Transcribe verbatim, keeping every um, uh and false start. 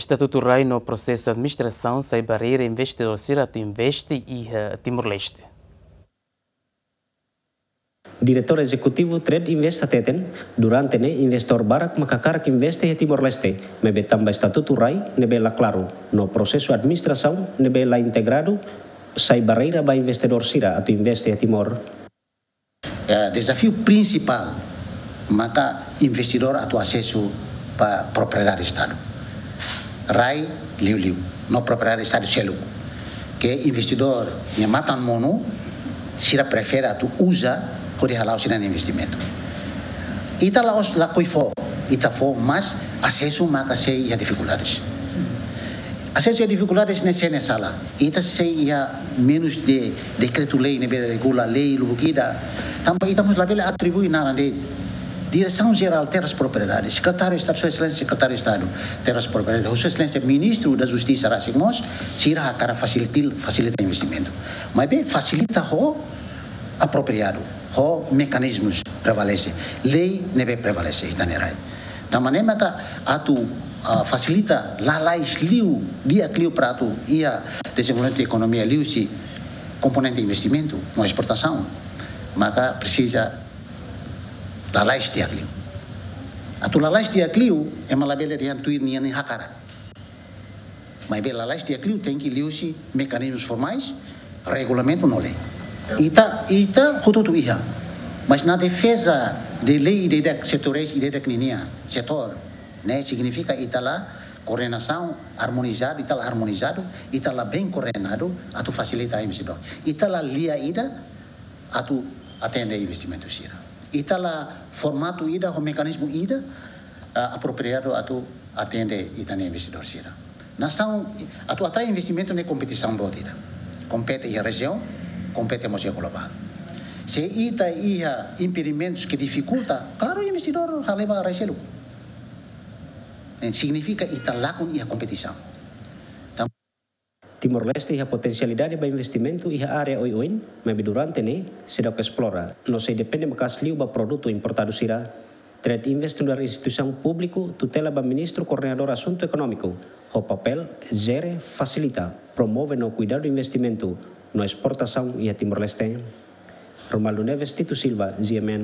estatutu rai no prosesu administrasaun sai barreira investidór sira atu investe iha Timor-Leste. Diretór Ezekutivu Trade Invest hateten, durante ne'e investidór barak maka hakarak investe iha Timor-Leste, maibé tanba estatutu rai ne'ebé la klaru no prosesu administrasaun ne'ebé la integradu, sai barreira ba investidór sira atu investe iha Timor. Eh, dezafiu prinsipál maka investidór atu asesu ba propriedade Estadu. Rai liuliu, no propriedade Estadu seluk. Ke investidór nia matan monu, sira prefere atu uza hodi hala'o sira-nia investimentu. Ita la'ós lakohi fó, ita fó, mas asesu maka sei iha difikuldades. Asesu iha difikuldades ne'e sé nia sala. Ita sei iha menus de dekretu-lei ne'ebé regula lei lubuk ida. Tanba ita mós labele atribui naran de'it. Diresaun Jerál Terras Propriedade, Sekretáriu Estadu, Sua Exelénsia Sekretáriu Estadu Terras Propriedade, Sua Exelénsia Ministru da Justisa rasik mós, sira hakarak fasilitil-, fasilita investimentu. Maibé fasilita ho apropriadu, ho mekanizmus prevalese, lei ne'ebé prevalese ita-nia rai. Tanba ne'e maka atu, ah, fasilita lalais liu, di'ak liu para atu iha dezenvolvimentu ekonomia liuhusi komponente investimentu no esportasaun, maka presiza lalais di'ak liu. Atu lalais di'ak liu, ema labele dehan tuir nia-nia hakarak. Maibé lalais di'ak liu tenke liuhusi mekanizmus formais, regulamentu no lei. Ita, ita hotu-hotu iha. Mas na defeza de lei ida-idak, setorais ida-idak ninian, setór, ne'e signifika ita la koordenasaun armonizadu, ita la armonizadu, ita la bem koordenadu atu fasilita investidór. Ita la lia ida atu atende investimentu sira. Ita la formatu ida ho mekanizmu ida, ah, apropriadu atu atende ita-nia investidór sira. Nasaun atu atrai investimentu ne'e kompetisaun boot ida. Kompete iha rejiaun, kompete mós iha globál. Se ita iha impedimentus ke difikulta, klaru investidór hale'u ba rai seluk. Ne'e signifika ita lakon iha kompetisaun. Timor-Leste iha potensialidade ba investimentu iha área oioin, maibé durante ne'e seidauk esplora, no sei depende maka'as liu ba produtu importadu sira. Trade Invest nu'udar instituisaun públiku tutela ba Ministru Koordenadór Asuntu Ekonómiku, ho papél jere, fasilita, promove no kuidadu investimentu no esportasaun iha Timor-Leste. Romualdo Neves, Tito Silva, G M N.